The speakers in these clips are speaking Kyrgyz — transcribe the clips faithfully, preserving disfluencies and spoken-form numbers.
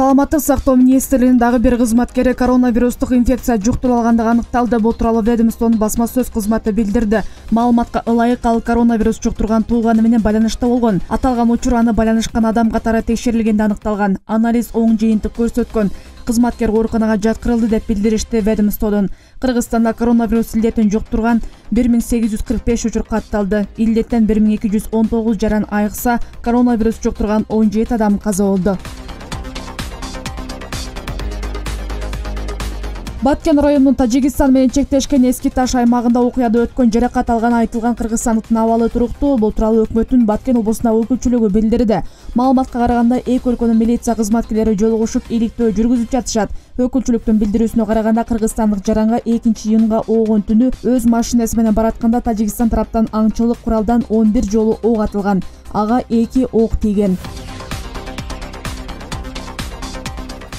Саламаттык сактоо министрлигинин дагы бир кызматкери коронавирустук инфекция жуктуруп алгандыгы аныкталды. Бул тууралуу ведомствонун басма сөз кызматы билдирди. Маалыматка ылайык ал коронавирус жуктурган тууганы менен байланышта болгон. Аталган учур аны байланышкан адам катары текшерилгенде аныкталган. Анализ оң жыйынтык көрсөткөн. Кызматкер ооруканага жаткырылды деп билдиришти ведомстводон. Кыргызстанда коронавирус илдетин жуктурган бир миң сегиз жүз кырк беш учур катталды. Илдеттен бир миң эки жүз он тогуз жаран айыкса, коронавирус жуктурган он жети адам каза болду. Баткен районунун Тажикстан менен чектешкен Эски Таш аймагында окуяда өткөн жаракат алган айтылган кыргызстандыктын абалы туруктуу. Бул тууралуу өкмөттүн Баткен облусундагы өкүлчүлүгү билдирди. Маалыматка караганда эки өлкөнүн милиция кызматкерлери жолугушуп иликтөө жүргүзүп жатышат. Өкүлчүлүктүн билдирүүсүнө караганда кыргызстандык жаранга экинчи июнга оогун түнү өз машинеси менен баратканда Тажикстан тараптан аңчылык куралдан он бир жолу ок атылган. Ага эки ок тийген.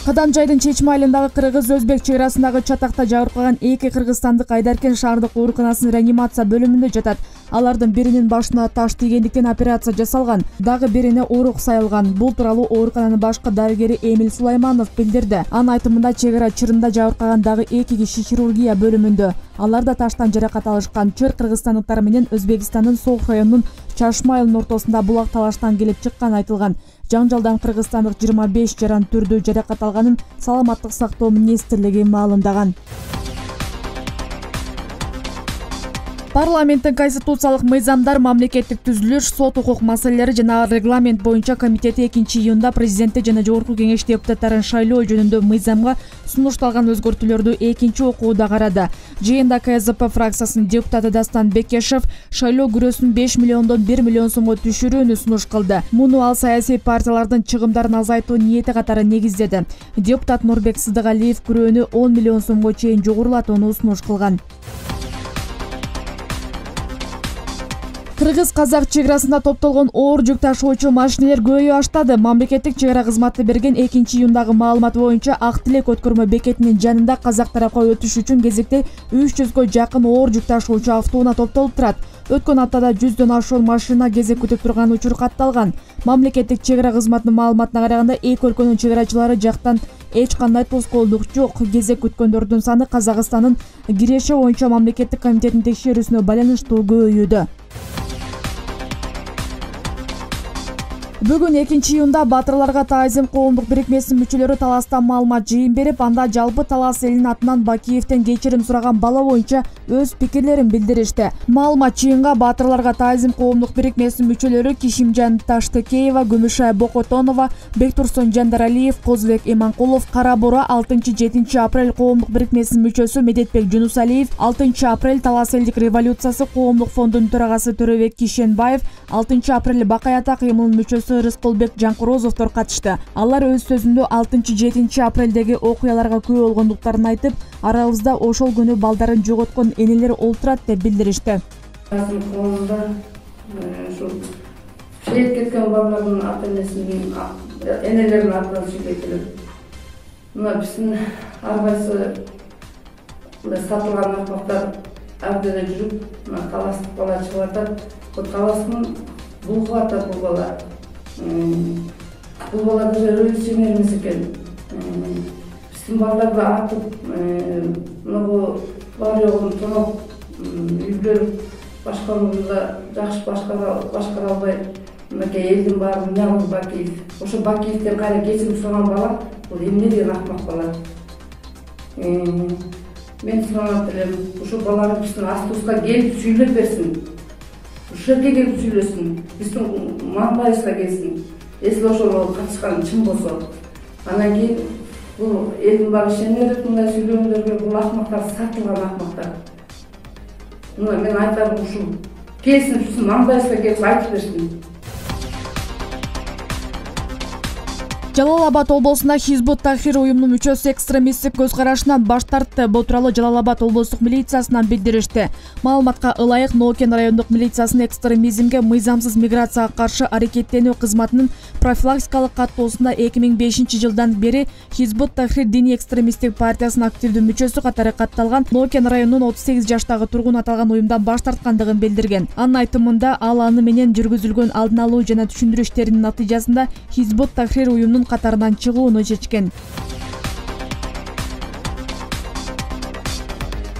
Каданжайдын Чечме айылындагы кыргыз-өзбек чек арасындагы чатакта жабыркаган эки кыргызстандык Айдаркен шаардык ооруканасынын реанимация бөлүмүндө жатат. Алардын биринин башына таш тийгендиктен операция жасалган, дагы бирине орук сайылган. Бул тууралуу оорукананын башкы дарыгери Эмил Сулайманов билдирди. Анын айтымында чек ара чырында жабыркаган дагы эки киши хирургия бөлүмүндө. Алар да таштан жаракат алышкан. Чыр кыргызстандыктар менен Өзбекстандын Соох районунун Чашма айылынын ортосунда булак талаштан келип чыкканы айтылган. Жаңжалдан кыргызстандык жыйырма беш жаран түрдүү жаракат алганын Саламаттык сактоо министрлиги маалымдаган. Парламенттин конституциялык мыйзамдар, мамлекеттик түзүлүш, сот укук маселелери жана регламент боюнча комитети экинчи июнда президентти жана жогорку кеңеш депутаттарын шайлоо жөнүндө мыйзамга сунушталган өзгөртүүлөрдү экинчи окууда карады. Жыйында ка эс дэ пэ фракциясынын депутаты Дастан Бекешев шайлоо күрөсүн беш миллиондон бир миллион сомго түшүрүүнү сунуш кылды. Муну ал саясий партиялардын чыгымдарын азайтуу ниети катары негиздеди. Депутат Нурбек Сыдыгалиев күрөөнү он миллион сомго чейин жогорулатууну сунуш кылган. Кыргыз-казак чек арасында топтолгон оор жүк ташуучу машинелер көбөйө баштады. Мамлекеттик чек ара кызматы берген экинчи июндагы маалымат боюнча Ак Тилек өткөрмө бекетинин жанында казак тарапка өтүш үчүн кезекте үч жүзгө жакын оор жүк ташуучу автоунаа топтолуп турат. Өткөн аптада жүздөн ашуун машина кезек күтүп турган учур катталган. Мамлекеттик чек ара кызматынын маалыматына караганда эки өлкөнүн чек арачылары жактан эч кандай тоскоолдук жок. Кезек күткөндөрдүн саны Казакстандын Киреше боюнча мамлекеттик комитетинин текшерүүсүнө байланыштуу көбөйүүдө. Бүгүн экинчи июнда Батырларга Таазим коомдук бирикмесинин мүчөлөрү Таластан маалымат жыйын берип, анда жалпы Талас элинин атынан Бакиевден кечирим сураган бала боюнча өз пикирлерин билдиришти. Маалымат жыйынга Батырларга Таазим коомдук бирикмесинин мүчөлөрү Кишимжан Таштыкеева, Күмүшай Бокотонова, Бектурсун Жандаралиев, Козбек Иманкулов, Кара Бура алтынчы-жетинчи апрель коомдук бирикмесинин мүчөсү Медетбек Жунусалиев, алтынчы апрель Талас элдик революциясы коомдук фондунун төрагасы Төрөбек Кишенбаев, алтынчы апрель Бакаята кыймылынын мүчөсү Рыскулбек Жанкурозовдор катышты. Алар өз сөзүндө алтынчы-жетинчи апрелдеги окуяларга күбө болгондуктарын айтып, арабызда ошол күнү балдарын жоготкон энелер олтурат деп билдиришти. Шейит кеткен балдардын ата-энесинин энелеринин атынан шилетилип, мына биздин ар кайсы сатылган акмактар абдеде жүрүп, мына таластык бала чыгып атат. Бул таластын булгуп атат бул бала. Бул бала даже революционер эмес экен. Биздин балдарды атып, мына бар жогун тоноп, үйлөр башкаруууда жакшы башкара албай, мынакей элдин баарын Нягыз Бакиев. Ошо Бакиевден кайра кечирим сураган бала, бул эмне деген акмак бала. Мен суранат элем, ошо баланы биздин автобуска келип сүйлөп берсин. Ушул жерге келип сүйлөсүн, биздин Мамбайыбызга келсин. Эсли ошол катышкан чын болсо, анан кийин бул элдин баары ишенер, мындай сүйлөгөндөргө бул акмактар сатылган акмактар. Мына мен айтарым ушул. Келсин, биздин Мамбайыбызга келип айтып берсин. Жалал Абад облусунда Хизбут Тахрир уюмунун мүчөсү экстремисттик көз карашынан баш тартты. Бул тууралуу Жалал Абад облустук милициясынан билдиришти. Маалыматка ылайык Нокен райондук милициясынын экстремизмге мыйзамсыз миграцияга каршы аракеттенүү кызматынын профилактикалык каттоосунда эки миң бешинчи жылдан бери Хизбут Тахрир диний экстремисттик партиясынын активдүү мүчөсү катары катталган Нокен районунун отуз сегиз жаштагы тургун аталган уюмдан баш тарткандыгын билдирген. Анын айтымында ал аны менен жүргүзүлгөн алдын алуу жана түшүндүрүү иштеринин натыйжасында Хизбут Тахрир уюмунун блогерлердин катарынан чыгууну чечкен.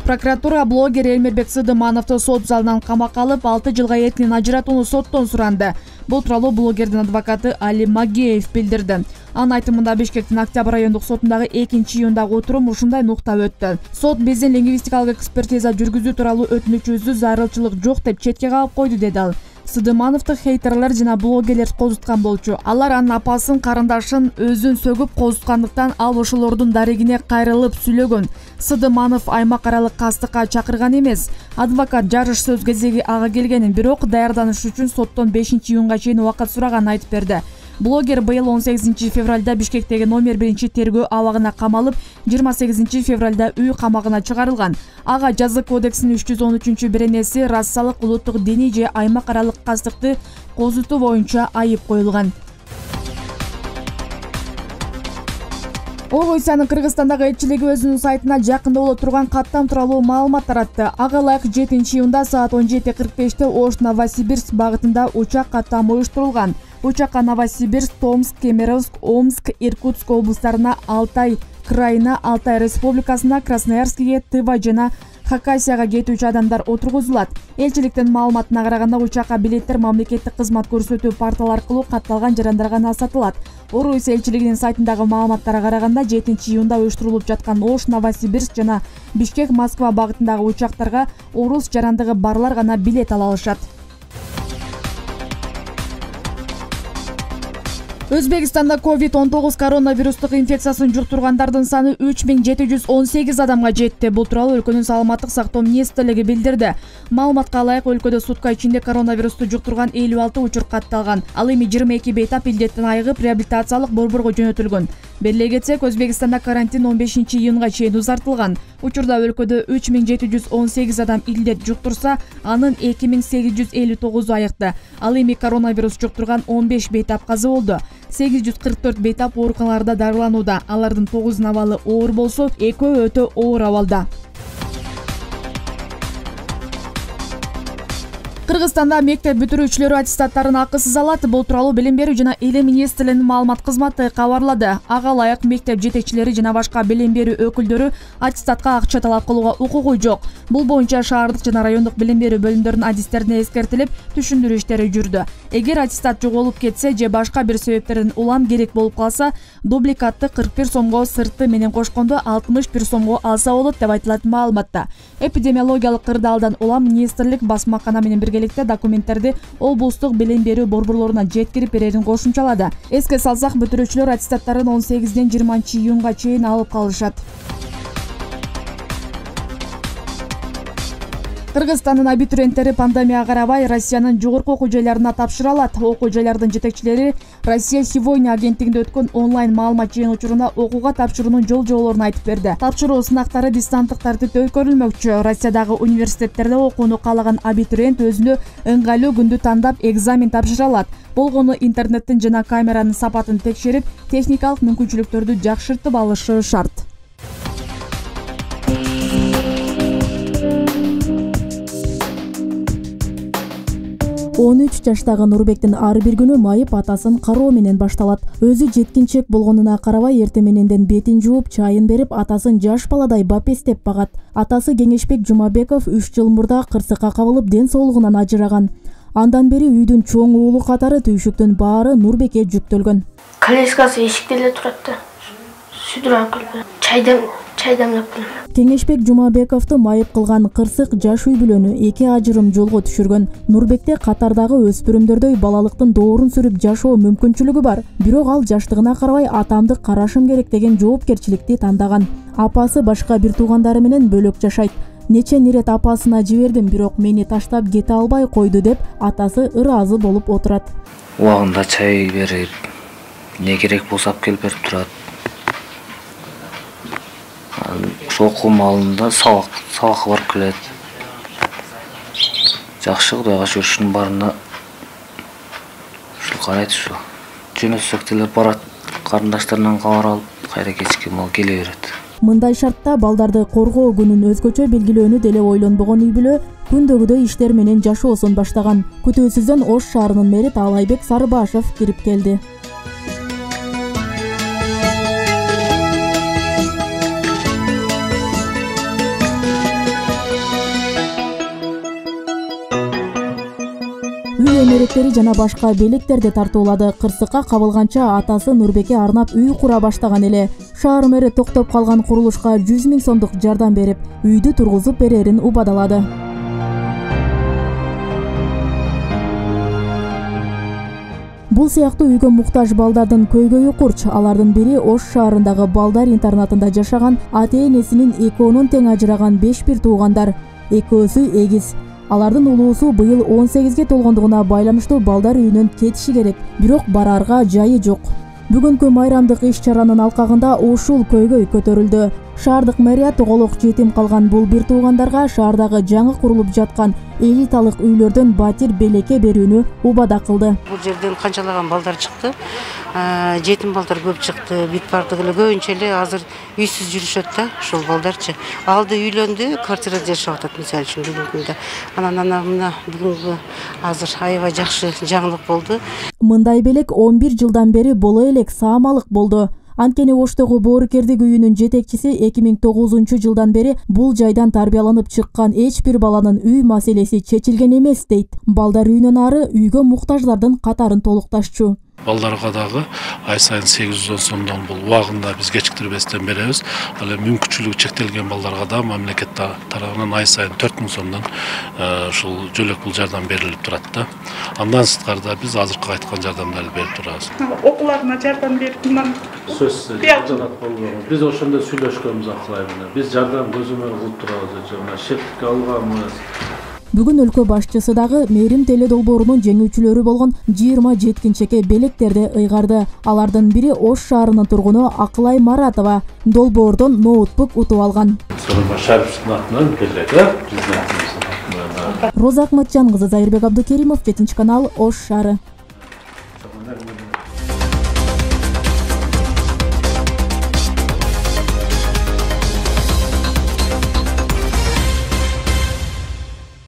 Прокуратура блогер Элмирбек Сыдымановду сот залынан камакка алып, алты жылга эркинен ажыратууну соттон суранды. Бул тууралуу блогердин адвокаты Али Магеев билдирди. Анын айтымында Бишкектин Октябрь райондук сотундагы экинчи июндагы отурум ушундай нукта өттү. Сот биздин лингвистикалык экспертиза жүргүзүү тууралуу өтүнүчүбүздү зарылчылык жок деп четке кагып койду, деди ал. Сыдымановду хейтерлер жана блогерлер козуткан болчу. Алар анын апасын, карындашын өзүн сөгүп козуткандыктан ал ошолордун дарегине кайрылып сүйлөгөн. Сыдыманов аймак аралык кастыкка чакырган эмес. Адвокат жарыш сөз кезеги ага келгенин, бирок даярданыш үчүн соттон бешинчи июнга чейин убакыт сураганын айтып берди. Блогер быйыл он сегизинчи февралда Бишкектеги номер биринчи тергөө абагына камалып, жыйырма сегизинчи февралда үй камагына чыгарылган. Ага жаза кодексинин үч жүз он үчүнчү беренеси расалык, улуттук, диний же аймак аралык кастыкты козутуу боюнча айып коюлган. Орусиянын Кыргызстандагы элчилиги өзүнүн сайтына жакында боло турган каттам тууралуу маалымат таратты. Ага ылайык жетинчи июнда саат он жети кырк беште Ош Новосибирск багытында учак каттам уюштурулган. Учакка Новосибирск, Томск, Кемеровск, Омск, Иркутск облустарына, Алтай крайына, Алтай республикасына, Красноярскиге, Тыва жана Хакасияга кетүүчү адамдар отургузулат. Элчиликтин маалыматына караганда, учакка билеттер мамлекеттик кызмат көрсөтүү порталы аркылуу катталган жарандарга гана сатылат. Орусия элчилигинин сайтындагы маалыматтарга караганда, жетинчи июнда уюштурулуп жаткан Ош, Новосибирск жана Бишкек, Москва багытындагы учактарга орус жарандыгы барлар гана билет ала алышат. Өзбекстанда ковид он тогуз коронавирустук инфекциясын жуктургандардын саны үч миң жети жүз он сегиз адамга жетти. Бул тууралуу өлкөнүн саламаттык сактоо министрлиги билдирди. Маалыматка ылайык, өлкөдө сутка ичинде коронавирусту жуктурган элүү алты учур катталган. Ал эми жыйырма эки бейтап илдеттен айыгып, реабилитациялык борборго жөнөтүлгөн. Белгилей кетсек, Өзбекстанда карантин он бешинчи июнга чейин узартылган. Учурда өлкөдө үч миң жети жүз он сегиз адам илдет жуктурса, анын эки миң сегиз жүз элүү тогузу айыкты. Ал эми коронавирус жуктурган он беш бейтап каза болду. сегиз жүз кырк төрт бейтап ооруканаларда дарыланууда. Алардын тогузунун абалы оор болсо, экөө өтө оор абалда. Кыргызстанда мектеп бүтүрүүчүлөрү аттестаттарын акысыз алат. Бул тууралуу Билим берүү жана Илим министрлигинин маалымат кызматы кабарлады. Ага ылайык мектеп жетекчилери жана башка билим берүү өкүлдөрү аттестатка акча талап кылууга укугу жок. Бул боюнча шаардык жана райондук билим берүү бөлүмдөрүнүн адистерине эскертилип, түшүндүрүү иштери жүрдү. Эгер аттестат жоголуп кетсе же башка бир себептерден улам керек болуп калса, дубликатты кырк бир сомго, сырты менен кошкондо алтымыш бир сомго алса болот деп айтылат маалыматта. Эпидемиологиялык кырдаалдан улам министрлик басмакана менен биргеликте документтерди облустук билим берүү борборлоруна жеткирип берерин кошумчалады. Эске салсак, бүтүрүүчүлөр аттестаттарын он сегизден жыйырманчы июнга чейин алып калышат. Кыргызстандын абитуриенттери пандемияга карабай Россиянын жогорку окуу жайларына тапшыра алат. Окуу жайлардын жетекчилери Россия сегодня агенттигинде өткөн онлайн маалымат жыйын учурунда окууга тапшыруунун жол жоболорун айтып берди. Тапшыруу сынактары дистанттык тартипте өткөрүлмөкчү. Россиядагы университеттерде окууну каалаган абитуриент өзүнө ыңгайлуу күндү тандап экзамен тапшыра алат. Болгону интернеттин жана камеранын сапатын текшерип, техникалык мүмкүнчүлүктөрдү жакшыртып алышы шарт. он үч жаштагы Нурбектин ар бир күнү майып атасын кароо менен башталат. Өзү жеткинчек болгонуна карабай, эрте мененден бетин жууп, чайын берип, атасын жаш баладай бапестеп багат. Атасы Кеңешбек Жумабеков үч жыл мурда кырсыкка кабылып, ден соолугунан ажыраган. Андан бери үйдүн чоң уулу катары түйшүктүн баары Нурбекке жүктөлгөн. Колескасы эшикте эле турат да. Сүдүрөн кылып, чайдан чайдамлап келем. Кеңешбек Жумабековду майып кылган кырсык жаш үй бүлөнү эки ажырым жолго түшүргөн. Нурбекте катардагы өспүрүмдөрдөй балалыктын доорун сүрүп жашоо мүмкүнчүлүгү бар. Бирок ал жаштыгына карабай атамды карашым керек деген жоопкерчиликти тандаган. Апасы башка бир туугандары менен бөлөк жашайт. Нече нерет апасына жибердим, бирок мени таштап кете албай койду деп атасы ыраазы болуп отурат. Убагында чай берип, не керек болсо алып келип берип турат. Ошо окуу маалында сабак сабакка барып келет. Жакшы Кудайга шүгүр, барына ушул карайт ушу. Жөнөтсөк деле барат, карындаштарынан кабар алып, кайра кечки мал келе берет. Мындай шартта балдарды коргоо күнүн өзгөчө белгилөөнү деле ойлонбогон үй бүлө күндөгүдөй иштер менен жашоосун баштаган. Күтүүсүздөн Ош шаарынын мэри Таалайбек Сарыбашев кирип келди. эмеректери жана башка белектерди тартуулады. Кырсыкка кабылганча атасы Нурбеке арнап үй кура баштаган эле. Шаар мэри токтоп калган курулушка жүз миң сомдук жардам берип, үйдү тургузуп берерин убадалады. Бул сыяктуу үйгө муктаж балдардын көйгөйү курч. Алардын бири Ош шаарындагы балдар интернатында жашаган, ата-энесинин экөөнүн тең ажыраган беш бир туугандар. Экөөсү эгиз. Алардын улуусу быйыл он сегизге толгондугуна байланыштуу балдар үйүнөн кетиши керек, бирок барарга жайы жок. Бүгүнкү майрамдык иш-чаранын алкагында ушул көйгөй көтөрүлдү. Шаардык мэрия тоголок жетим калган бул бир туугандарга шаардагы жаңы курулуп жаткан элиталык үйлөрдөн батир белекке берүүнү убада кылды. Бул жерден канчалаган балдар чыкты. Жетим балдар көп чыкты. Бүт бардык эле көбүнчө эле азыр үйсүз жүрүшөт да, ушул балдарчы. Алды үйлөндү, квартирада жашап атат мисалы үчүн бүгүнкү күндө. Анан ана мына бүгүнкү азыр аябай жакшы жаңылык болду. Мындай белек он бир жылдан бери боло элек саамалык болду. Анткени Оштогу боорукердик үйүнүн жетекчиси эки миң тогузунчу жылдан бери бул жайдан тарбияланып чыккан эч бир баланын үй маселеси чечилген эмес дейт. Балдар үйүнөн ары үйгө муктаждардын катарын толукташчу. Балдарга дагы ай сайын сегиз жүз он сомдон бул убагында биз кечиктирбестен беребиз. Ал эми мүмкүнчүлүгү чектелген балдарга да мамлекет тарабынан ай сайын төрт миң сомдон ушул жөлөк бул жардам берилип турат да. Андан сырткары биз азыркы айткан жардамдарды берип турабыз. Окууларына жардам берип, мындан сөзсүз жардам болбойт. Биз ошондо сүйлөшкөнбүз акылай менен. Биз жардам көзөмөл кылып турабыз, жана шептикке алганбыз. Бүгүн өлкө башчысы дагы Мээрим теле долбоорунун жеңүүчүлөрү болгон жыйырма жеткинчекке белектерди ыйгарды. Алардын бири Ош шаарынын тургуну Акылай Маратова долбоордон ноутбук утуп алган. Роза Акматжан кызы, Зайырбек Абдукеримов, жетинчи канал, Ош шаары.